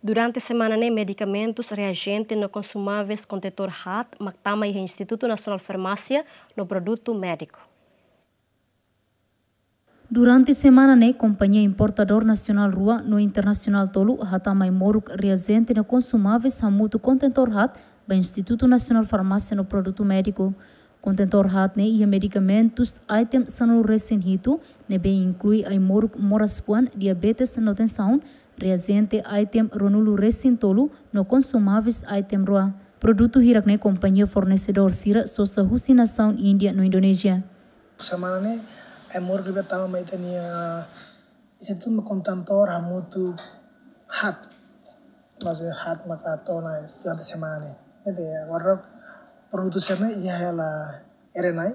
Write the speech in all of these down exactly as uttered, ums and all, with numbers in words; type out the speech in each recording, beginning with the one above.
Durante semana ne'e, medikamentus, reajente no konsumáveis kontentór haat mak tama iha Institutu Nasionál Farmásia no Produtu Médiku. Durante semana ne'e, kompañia importadór nasionál rua no internasionál tolu hatama ai-moruk, reajente no konsumáveis hamutuk kontentór haat ba Institutu Nasionál Farmásia no Produtu Médiku. Kontentór haat ne'e iha medikamentus item sanulu-resin-hitu, ne'ebé inklui ai-moruk moras-fuan, diabetes no tensaun, reajente item ruanulu-resin-tolu no konsumáveis item rua. Produtu hirak ne'e kompañia fornesedór sira sosa husi nasaun Índia no Indonézia. Semana ne'e, ai-moruk ne'ebé tama mai ita-nia institutu mak kontentór hamutuk haat. Maksudnya haat maka to'o ona durante semana ne'e. Ne'ebé agora produtu sira-ne'e iha hela R N I,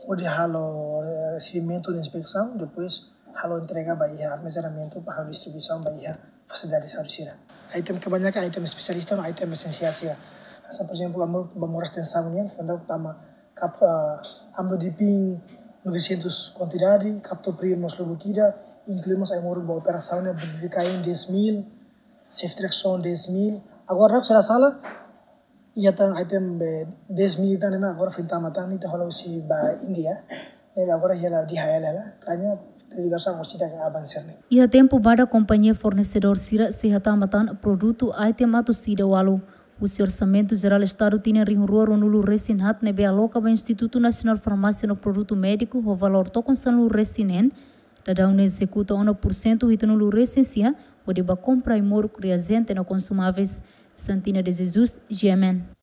hodi halo, eh, resibimentu no inspesaun, depois halo entrega ba iha armazenamentu para halo distribuisaun ba iha fasilidade saúde sira. Item kebanyakan item espesialista no item esensiál sira. Hanesan, por ezemplu, ai-moruk ba moras tensaun nian, foin daudauk tama kap-, ah, amlodipin novecentos kuantidade, captopril mós lubuk ida, inklui mós ai-moruk ba operasaun ne'e, bupricain dez mil, ceftriaxone dez mil. Agora, se la sala, iha tan item, eh, dez mil tan ne'e mak agora foin tama tan, ita hola husi ba Índia. Ne'e agora iha hela D H L hela, hanya ligasaun ho sira ke avanse ne'e. Iha tempu badak kompañia fornesedór sira sei hatama tan produtu item atus ida ualu. Husi Orsamentu Jerál Estadu tinan rihun rua ruanulu-resin-haat ne'ebé aloka ba Institutu Nasionál Farmásia no Produtu Médiku ho valór tokon sanulu-resin-neen, daudaun ne'e ezekuta ona pursentu hitunulu-resin-sia hodi ba kompra ai-moruk, reajente no konsumáveis. Santina de Jesus, G M N.